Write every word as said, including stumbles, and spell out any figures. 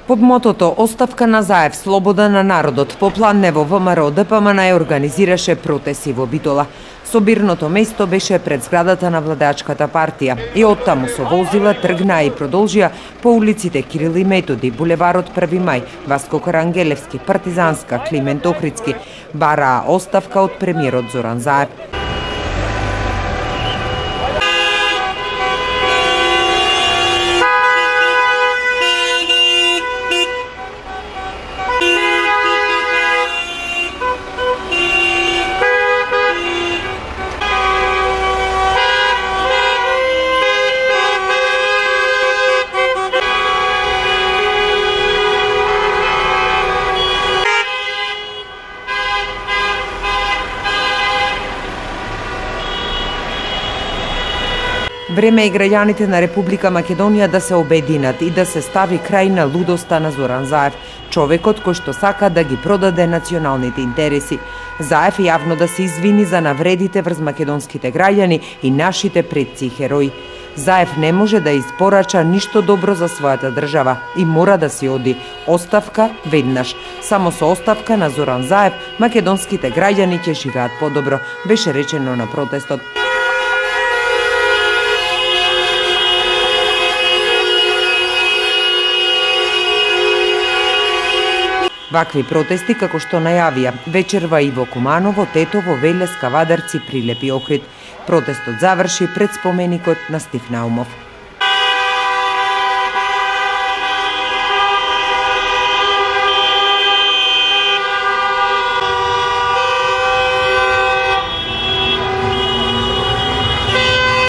Под мотото "Оставка на Заев, слобода на народот", попладнево ВМРО Д П М Н ја организираше протести во Битола. Собирното место беше пред зградата на владеачката партија и оттаму со возила тргнаа и продолжија по улиците Кирил и Методи, булеварот Први мај, Васко Карангелевски, Партизанска, Климент Охридски, бараа оставка од премиерот Зоран Заев. Време е граѓаните на Република Македонија да се обединат и да се стави крај на лудоста на Зоран Заев, човекот кој што сака да ги продаде националните интереси. Заев јавно да се извини за навредите врз македонските граѓани и нашите предци и херои. Заев не може да испорача ништо добро за својата држава и мора да си оди. Оставка веднаш. Само со оставка на Зоран Заев македонските граѓани ќе живеат подобро, беше речено на протестот. Вакви протести, како што најавија вечерва и во Куманово, Тетово, Велес, Кавадарци, Прилеп и Охрид. Протестот заврши пред споменикот на Стив Наумов.